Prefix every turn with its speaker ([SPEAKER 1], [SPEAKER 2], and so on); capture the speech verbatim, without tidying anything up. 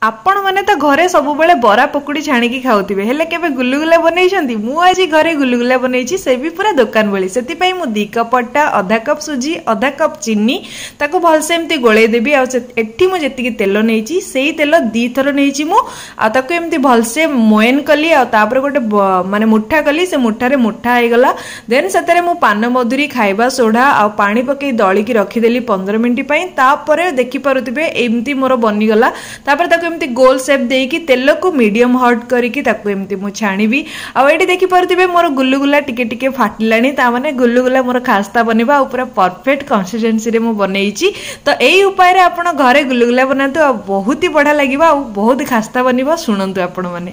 [SPEAKER 1] ଆପଣମାନେ ତ ଘରେ ସବୁବେଳେ ବରା ପକୁଡ଼ି ଛାଣିକି ଖାଉଥିବେ, ହେଲେ କେବେ ଗୁଲୁଗୁଲା ବନେଇଛନ୍ତି? ମୁଁ ଆଜି ଘରେ ଗୁଲୁଗୁଲା ବନେଇଛି, ସେ ବି ପୁରା ଦୋକାନ ଭଳି। ସେଥିପାଇଁ ମୁଁ ଦୁଇ କପ୍ ଅଟା, ଅଧା କପ୍ ସୁଜି, ଅଧା କପ୍ ଚିନି, ତାକୁ ଭଲସେ ଏମିତି ଗୋଳେଇ ଦେବି। ଆଉ ଏଠି ମୁଁ ଯେତିକି ତେଲ ନେଇଛି, ସେଇ ତେଲ ଦୁଇଥର ନେଇଛି ମୁଁ। ଆଉ ତାକୁ ଏମିତି ଭଲସେ ମୋଏନ କଲି, ଆଉ ତାପରେ ଗୋଟେ ମାନେ ମୁଠା କଲି, ସେ ମୁଠାରେ ମୁଠା ହେଇଗଲା। ଦେନ୍ ସେଥିରେ ମୁଁ ପାନ ମଧୁରୀ, ଖାଇବା ସୋଢ଼ା ଆଉ ପାଣି ପକେଇ ଦଳିକି ରଖିଦେଲି ପନ୍ଦର ମିନିଟ୍ ପାଇଁ। ତାପରେ ଦେଖିପାରୁଥିବେ, ଏମିତି ମୋର ବନିଗଲା। ତାପରେ ତାକୁ ଏମିତି ଗୋଲ ସେପ୍ ଦେଇକି ତେଲକୁ ମିଡ଼ିୟମ ହଟ୍ କରିକି ତାକୁ ଏମିତି ମୁଁ ଛାଣିବି। ଆଉ ଏଇଠି ଦେଖିପାରୁଥିବେ, ମୋର ଗୁଲୁଗୁଲା ଟିକେ ଟିକେ ଫାଟିଲାଣି, ତା ମାନେ ଗୁଲୁଗୁଲା ମୋର ଖାସ୍ତା ବନିବ। ଆଉ ପୁରା ପରଫେକ୍ଟ କନସିଷ୍ଟେନ୍ସିରେ ମୁଁ ବନେଇଛି। ତ ଏଇ ଉପାୟରେ ଆପଣ ଘରେ ଗୁଲୁଗୁଲା ବନାନ୍ତୁ, ଆଉ ବହୁତ ହି ବଢ଼ିଆ ଲାଗିବ, ଆଉ ବହୁତ ଖାସ୍ତା ବନିବ। ଶୁଣନ୍ତୁ ଆପଣମାନେ।